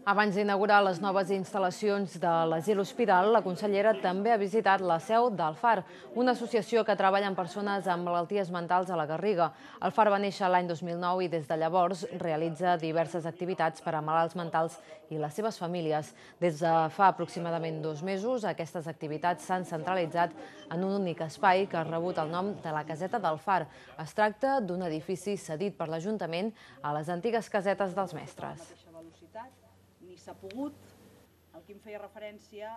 Abans d'inaugurar les noves instal·lacions de l'Asil Hospital, la consellera també ha visitat la seu del FAR, una associació que treballa amb persones amb malalties mentals a la Garriga. El FAR va néixer l'any 2009 i des de llavors realitza diverses activitats per a malalts mentals i les seves famílies. Des de fa aproximadament 2 mesos, aquestes activitats s'han centralitzat en un únic espai que ha rebut el nom de la Caseta del FAR. Es tracta d'un edifici cedit per l'Ajuntament a les antigues casetes dels mestres. Ni s'ha pogut, el que em feia referència